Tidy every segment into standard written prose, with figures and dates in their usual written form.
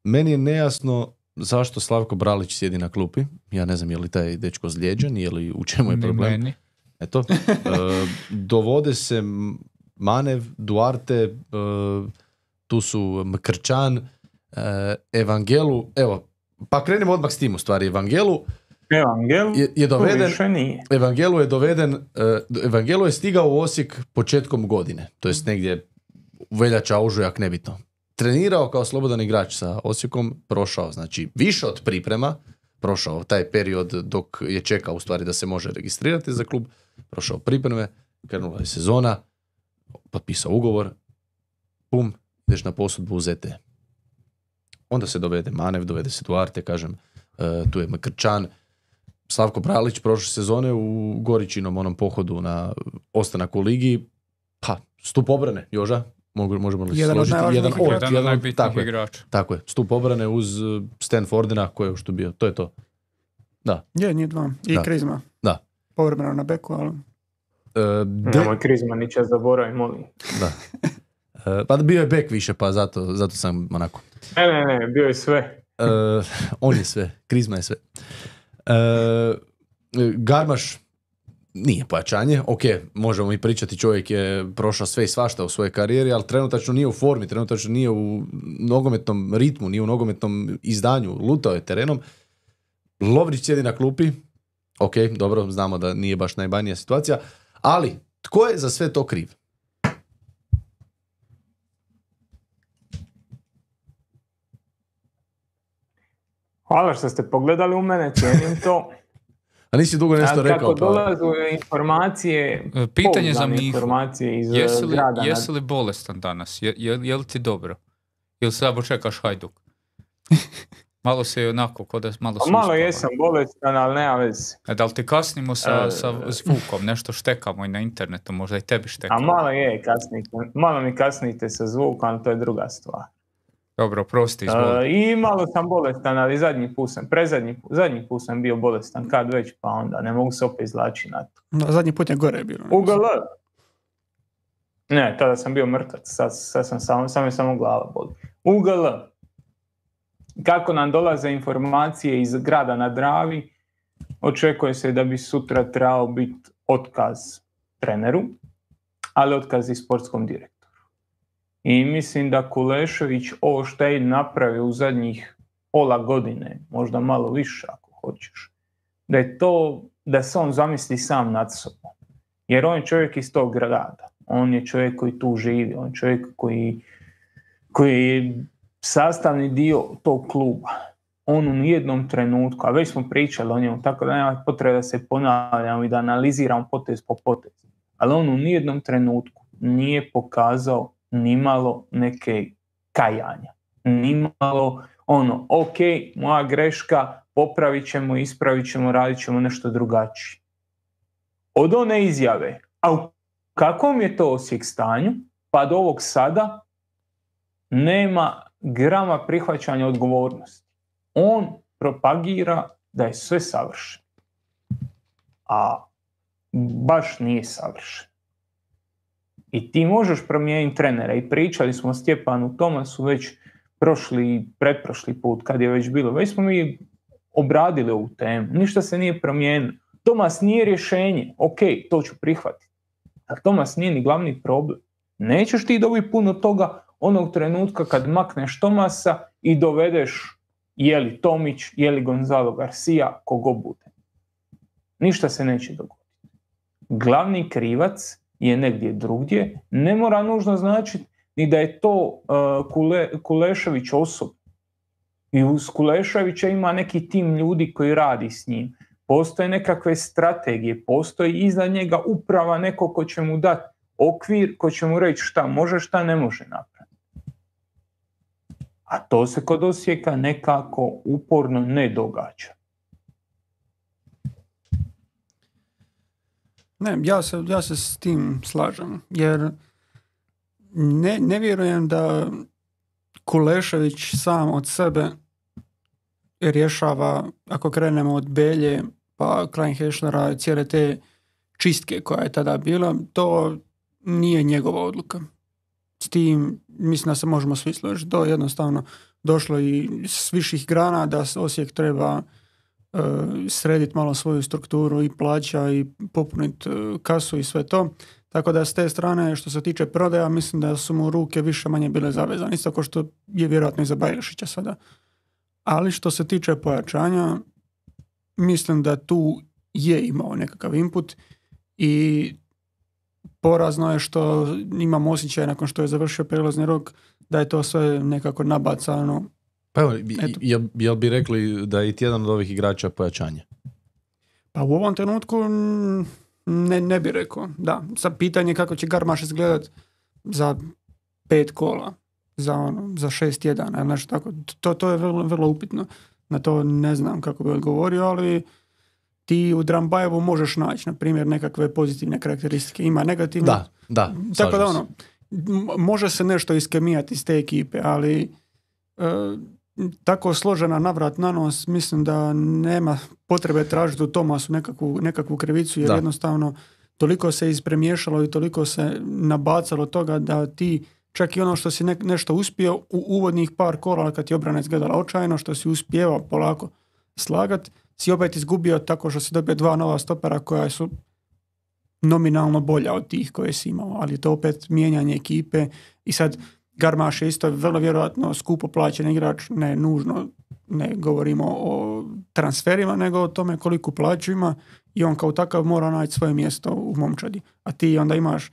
Meni je nejasno zašto Slavko Bralić sjedi na klupi. Ja ne znam je li taj dečko zlijeđen, je li u čemu je problem. Meni. Eto, dovode se Manev, Duarte, tu su Mkrčan, Evangelu, evo, pa krenemo odmah s tim u stvari. Evangelu je doveden, Evangelu je stigao u Osijek početkom godine, to jest negdje veljača, ožujak, nebitno. Trenirao kao slobodan igrač sa Osijekom, prošao, znači, više od priprema, prošao taj period dok je čekao u stvari da se može registrirati za klub, prošao pripreme, krenula je sezona, potpisao ugovor, pum, ideš na posudbu u ZT. Onda se dovede Manev, dovede se Duarte, kažem, tu je Mkrčan, Slavko Bralić prošle sezone u Goričinom onom pohodu na ostanak u ligi, pa, stup obrane, Joža, možemo li jedan složiti? Jedan od najbitnijih igrača. Tako je, stup obrane uz Stanfordina, koji je što bio, to je to. Da. Je, nije dva. I Krizma. Da. Povremeno na beku, ali... Nemoj Krizma, niće zaboravim, molim. Da. Pa bio je bek više, pa zato sam onako... Ne, bio je sve. On je sve, Krizma je sve. Garmaš nije pojačanje, ok, možemo mi pričati, čovjek je prošao sve i svašta u svojoj karijeri, ali trenutačno nije u formi, trenutačno nije u nogometnom ritmu, nije u nogometnom izdanju, lutao je terenom. Lovrić sjedi na klupi, ok, dobro, znamo da nije baš najbanija situacija, ali tko je za sve to kriv? Hvala što ste pogledali u mene, cijenim to. A nisi dugo nešto rekao. Kako dolazu informacije, pitanje za Mihu. Informacije iz grada. Jesi li bolestan danas? Je li ti dobro? Ili samo čekaš Hajduk? Malo se onako, kod da malo se malo jesam bolestan, ali nema veze. Da li ti kasnimo sa zvukom? Nešto štekamo i na internetu, možda i tebi štekamo. A malo mi kasnite sa zvukom, ali to je druga stvar. Dobro, prosti, izvoli. I malo sam bolestan, ali zadnji put sam bio bolestan, kad već, pa onda ne mogu se opet izlačiti na to. No, zadnji put je gore bilo. UGL. Ne, tada sam bio mrtav, sad sam samo glava boli. UGL. Kako nam dolaze informacije iz grada na Dravi, očekuje se da bi sutra trebao biti otkaz treneru, ali otkaz i sportskom direktoru. I mislim da Kulešević ovo što je napravio u zadnjih pola godine, možda malo više ako hoćeš, da je to da se on zamisli sam nad sobom. Jer on je čovjek iz tog grada, on je čovjek koji tu živi, on je čovjek koji je sastavni dio tog kluba. On u nijednom trenutku, a već smo pričali o njemu, tako da nema potrebe da se ponavljamo i da analiziramo potez po potez, ali on u nijednom trenutku nije pokazao nimalo neke kajanja. Nimalo ok, moja greška, popravit ćemo, ispravit ćemo, radit ćemo nešto drugačije. Od one izjave, a u kakvom je to Osijek stanju, pa do ovog sada nema grama prihvaćanja odgovornosti. On propagira da je sve savršeno. A baš nije savršeno. I ti možeš promijeniti trenera. I pričali smo o Stjepanu Tomasu već pretprošli put, kad je već bilo. Već smo mi obradili ovu temu. Ništa se nije promijenilo. Tomas nije rješenje. Ok, to ću prihvatiti. Ali Tomas nije ni glavni problem. Nećeš ti dobiti puno toga onog trenutka kad makneš Tomasa i dovedeš je li Tomić, je li Gonzalo Garcia, kogo bude. Ništa se neće dogoditi. Glavni krivac je negdje drugdje, ne mora nužno značiti ni da je to Kulešević osobno. I uz Kuleševića ima neki tim ljudi koji radi s njim. Postoje nekakve strategije, postoji iza njega uprava, neko ko će mu dati okvir, ko će mu reći šta može, šta ne može napraviti. A to se kod Osijeka nekako uporno ne događa. Ne, ja se s tim slažem, jer ne vjerujem da Kulešević sam od sebe rješava, ako krenemo od Belje pa Kleinheslera, cijele te čistke koja je tada bila, to nije njegova odluka. S tim mislim da se možemo svi složiti. To je jednostavno došlo i s viših grana da Osijek treba srediti malo svoju strukturu i plaća i popuniti kasu i sve to. Tako da s te strane što se tiče prodaja mislim da su mu ruke više manje bile zavezane. Isto kao što je vjerojatno i za Bajrašića sada. Ali što se tiče pojačanja mislim da tu je imao nekakav input i porazno je što imam osjećaj nakon što je završio prelazni rok da je to sve nekako nabacano. Pa evo, jel bi rekli da je i jedan od ovih igrača pojačanje? Pa u ovom trenutku ne bi rekao. Da, sad pitanje kako će Garmaš izgledat za 5 kola, za 6 tjedana, znači tako. To je vrlo, vrlo upitno. Na to ne znam kako bi odgovorio, ali ti u Drambajevu možeš naći, na primjer, nekakve pozitivne karakteristike. Ima negativne. Da. Tako da može se nešto iskemijati iz te ekipe, ali tako složena navrat na nos, mislim da nema potrebe tražiti u Tomasu nekakvu krivicu, jer jednostavno toliko se ispremiješalo i toliko se nabacalo toga da ti čak i ono što si nešto uspio u uvodnih par kola kad je obrana izgledala očajno, što si uspijevao polako slagat, si opet izgubio tako što si dobio 2 nova stopera koja su nominalno bolja od tih koje si imao, ali to opet mijenjanje ekipe i sad Garmaš je isto vrlo vjerojatno skupo plaćen igrač, ne nužno, ne govorimo o transferima, nego o tome koliko plaću ima i on kao takav mora naći svoje mjesto u momčadi. A ti onda imaš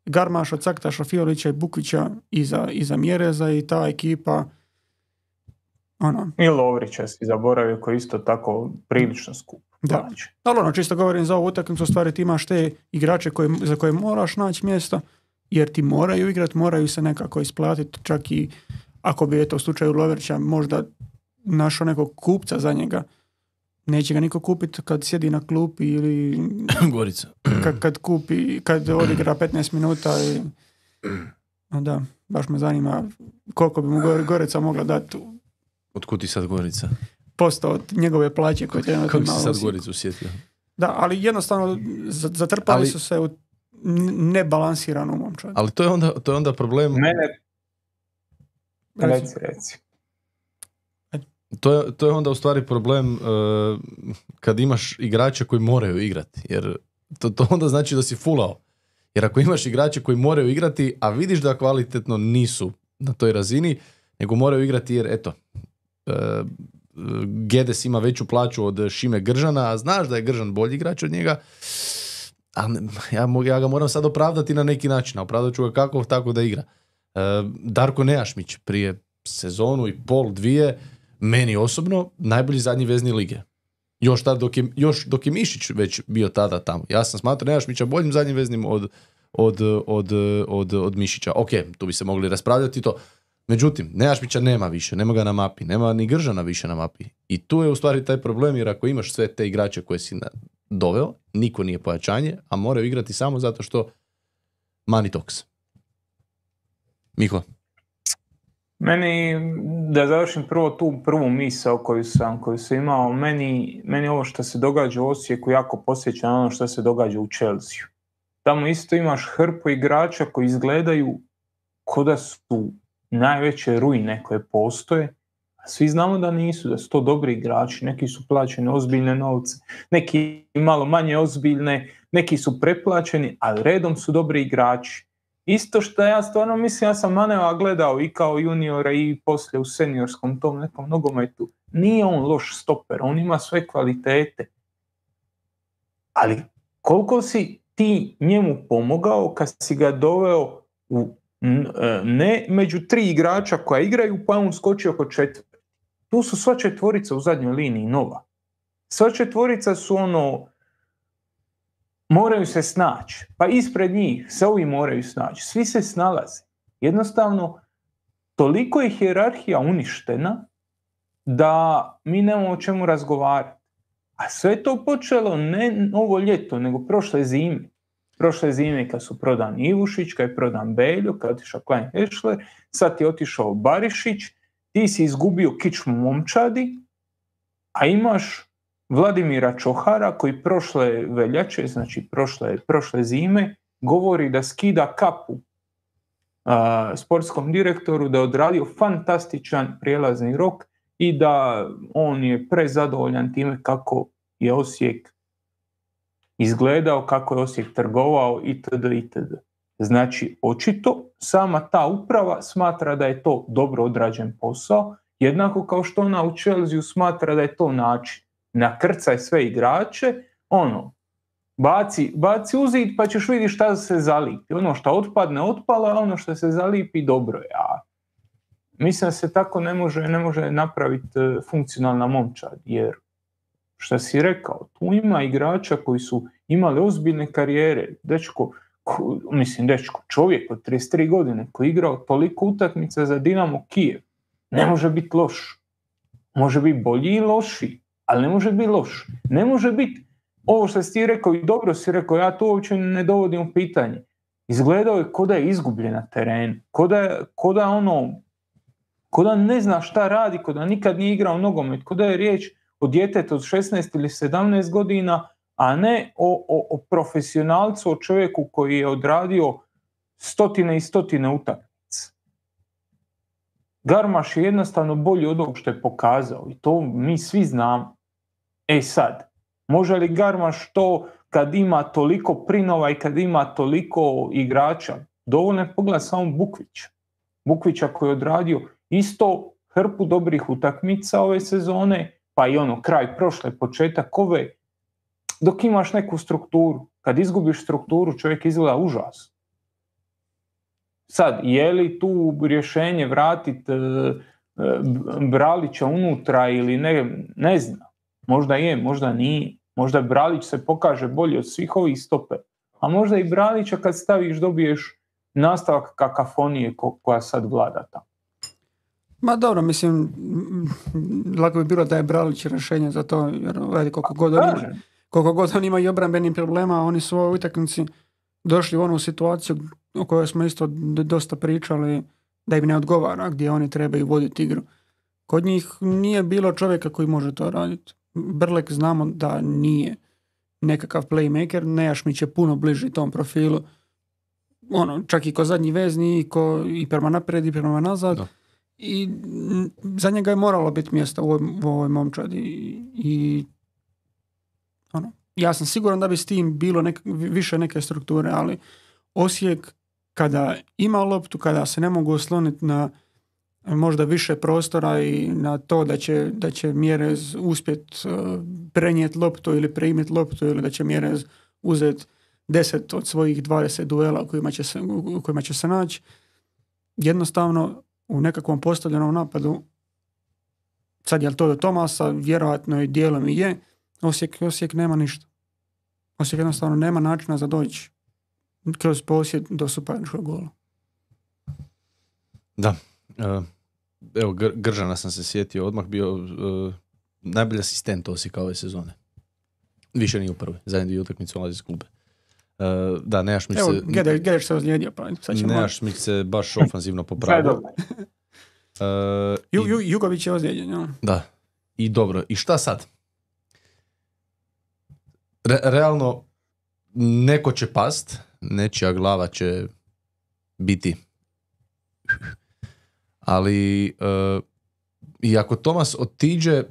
Garmaša, Caktaša, Fiolića i Bukvića iza Mjereza i ta ekipa I Lovrića si zaboravio koji isto tako prilično skup. Da, ali čisto govorim za ovu utakmicu, stvari ti imaš te igrače za koje moraš naći mjesto, jer ti moraju igrati, moraju se nekako isplatiti, čak i ako bi u slučaju Lovrića možda našao nekog kupca za njega, neće ga niko kupiti kad sjedi na klupi ili Gorica. kad odigra 15 minuta i da, baš me zanima koliko bi mu Gorica mogla dati. Otkud ti sad Gorica? Posto od njegove plaće koje je kako si sad Goricu sjetio? Da, ali jednostavno zatrpali su se u nebalansiranu momčad. Ali to je onda problem. Reci. To je onda u stvari problem kad imaš igrače koji moraju igrati, jer to onda znači da si fulao. Jer ako imaš igrače koji moraju igrati, a vidiš da kvalitetno nisu na toj razini, nego moraju igrati jer eto, Gedes ima veću plaću od Šime Gržana, a znaš da je Gržan bolji igrač od njega, a ja ga moram sad opravdati na neki način, a opravdat ću ga kako tako da igra. Darko Nejašmić prije sezonu i pol, 2, meni osobno najbolji zadnji vezni lige. Još dok je Mišić već bio tada tamo. Ja sam smatrao Nejašmića boljim zadnjim veznim od Mišića. Ok, tu bi se mogli raspravljati to. Međutim, Nejašmića nema više, nema ga na mapi, nema ni Gržana više na mapi. I tu je u stvari taj problem, jer ako imaš sve te igrače koje si doveo, niko nije pojačanje, a moraju igrati samo zato što money talks. Miho? Meni, da završim prvo tu prvu misao koju sam imao, meni ovo što se događa u Osijeku jako posjeća na ono što se događa u Chelsea. Tamo isto imaš hrpu igrača koji izgledaju kao da su najveće ruine koje postoje, a svi znamo da nisu, da su to dobri igrači, neki su plaćeni ozbiljne novce, neki malo manje ozbiljne, neki su preplaćeni, ali redom su dobri igrači. Isto što ja stvarno mislim, ja sam Maneva gledao i kao juniora i poslije u seniorskom tom nekom nogometu. Nije on loš stoper, on ima sve kvalitete. Ali koliko si ti njemu pomogao kad si ga doveo ne među 3 igrača koja igraju, pa on skočio oko 4. Tu su sva 4 u zadnjoj liniji nova. Sva 4 su moraju se snaći. Pa ispred njih se ovi moraju snaći. Svi se snalaze. Jednostavno, toliko je hijerarhija uništena da mi nemamo o čemu razgovarati. A sve to počelo ne ovo ljeto, nego prošle zime. Prošle zime kad su prodan Ivušić, kad je prodan Beljo, kad je otišao Klein Hešler, sad je otišao Barišić, ti si izgubio kičmu momčadi, a imaš Vladimira Čohara koji prošle veljače, znači prošle zime, govori da skida kapu sportskom direktoru da je odradio fantastičan prijelazni rok i da on je prezadovoljan time kako je Osijek izgledao, kako je Osijek trgovao itd. itd. Znači, očito sama ta uprava smatra da je to dobro odrađen posao, jednako kao što ona u Chelsea smatra da je to način. Nakrcaj sve igrače, baci u zid pa ćeš vidjeti šta se zalipi. Ono što otpadne, otpalo, a ono što se zalipi, dobro je. A mislim da se tako ne može napraviti funkcionalna momčad, jer što si rekao, tu ima igrača koji su imali ozbiljne karijere. Čovjek od 33 godine koji je igrao toliko utakmica za Dinamo Kijev, ne može biti loš. Može biti bolji i loši, ali ne može biti loš. Ne može biti ovo što si ti rekao i dobro si rekao, ja to uopće ne dovodim u pitanje. Izgledao je ko da je izgubljen na terenu, ko da ne zna šta radi, ko da nikad nije igrao nogomet, ko da je riječ o djetetu od 16 ili 17 godina, a ne o profesionalcu, o čovjeku koji je odradio stotine i stotine utakmica. Garmaš je jednostavno bolji od ovog što je pokazao i to mi svi znamo. Sad, može li Garmaš to kad ima toliko prinova i kad ima toliko igrača? Dovoljno je pogledati samo Bukvića koji je odradio isto hrpu dobrih utakmica ove sezone, pa i kraj prošle, početak ove, dok imaš neku strukturu. Kad izgubiš strukturu, čovjek izgleda užas. Sad, je li tu rješenje vratiti Bralića unutra ili ne znam. Možda je, možda nije. Možda Bralić se pokaže bolje od svih ovih stope. A možda i Bralića kad staviš dobiješ nastavak kakafonije koja sad vlada tamo. Ma dobro, mislim, lako bi bilo da je Bralić rješenje za to, jer vidi koliko god on ima i obrambenih problema, oni su u ovoj utakmici došli u onu situaciju o kojoj smo isto dosta pričali, da im ne odgovara, gdje oni trebaju voditi igru. Kod njih nije bilo čovjeka koji može to raditi. Brlek znamo da nije nekakav playmaker, Nejašmić je puno bliži tom profilu, čak i ko zadnji vezni, i prema naprijed i prema nazad. Da. I za njega je moralo biti mjesta u ovoj momčadi i ja sam siguran da bi s tim bilo više neke strukture, ali Osijek kada ima loptu, kada se ne mogu osloniti na možda više prostora i na to da će Mjerez uspjeti prenijeti loptu ili primiti loptu ili da će Mjerez uzeti 10 od svojih 20 duela u kojima će se naći, jednostavno u nekakvom postavljenom napadu, sad je li to do Tomasa, vjerojatno i dijelom i je, Osijek nema ništa. Osijek jednostavno nema načina za doći kroz posjed do suparničkog gola. Da. Evo, Gržana sam se sjetio, odmah bio najbolji asistent Osijeka ove sezone. Više nije u prvoj, zadnje dvije utakmice ulazi iz klube. Da, Nejašmić se... Evo, Gedeš se ozlijedio, pa sad ćemo... Nejašmić se baš ofanzivno popravio. Jugović je ozlijeđen, ja. Da. I dobro, i šta sad? Realno, neko će past, nečija glava će biti. Ali i ako Tomas otiđe,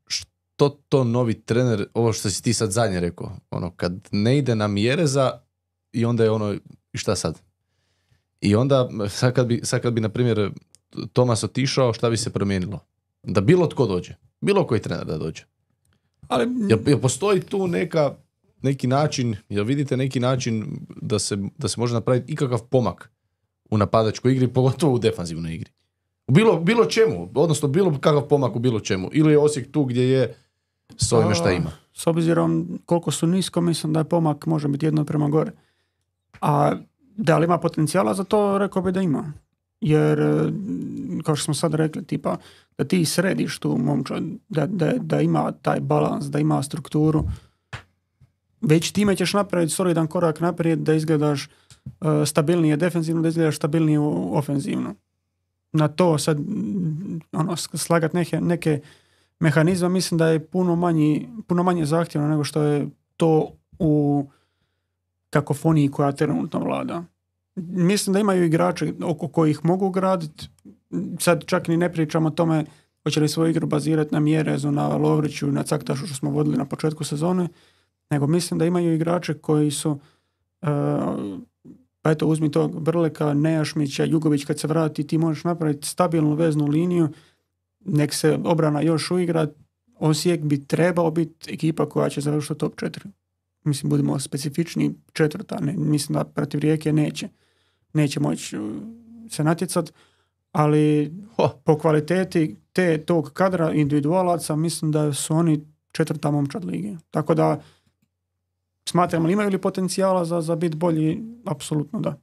što to novi trener, ovo što si ti sad zadnje rekao, kad ne ide na Mjereza i onda je i šta sad? I onda, sad kad bi na primjer Tomas otišao, šta bi se promijenilo? Da bilo tko dođe, bilo koji trener da dođe. Ali jel postoji tu neki način, jel vidite neki način da se može napraviti ikakav pomak u napadačkoj igri, pogotovo u defanzivnoj igri? Bilo čemu, odnosno bilo kakav pomak u bilo čemu. Ili je Osijek tu gdje je s ovime šta ima? S obzirom koliko su nisko, mislim da je pomak može biti jedno prema gore. A da li ima potencijala za to, rekao bi da ima. Jer, kao što smo sad rekli, tipa, da ti središ tu momčad, da ima taj balans, da ima strukturu, već time ćeš napraviti solidan korak naprijed da izgledaš stabilnije defensivno, da izgledaš stabilnije ofenzivno. Na to sad slagati neke mehanizme, mislim da je puno manje zahtjevno nego što je to u kakofoniji koja trenutno vlada. mislim da imaju igrače oko kojih mogu graditi. Sad čak ni ne pričamo o tome hoće li svoju igru bazirati na Mjerezu, na Lovriću, na Caktašu što smo vodili na početku sezone, nego mislim da imaju igrače koji su pa eto uzmi tog Brleka, Nejašmića, Jugović kad se vrati ti možeš napraviti stabilnu veznu liniju, nek se obrana još uigra. Osijek bi trebao biti ekipa koja će završiti top 4. Mislim, budemo specifični, 4. Ne, mislim da protiv Rijeke neće moći se natjecati, ali po kvaliteti tog kadra individualaca mislim da su oni 4. momčad lige. Tako da smatram, imaju li potencijala za biti bolji? Apsolutno da.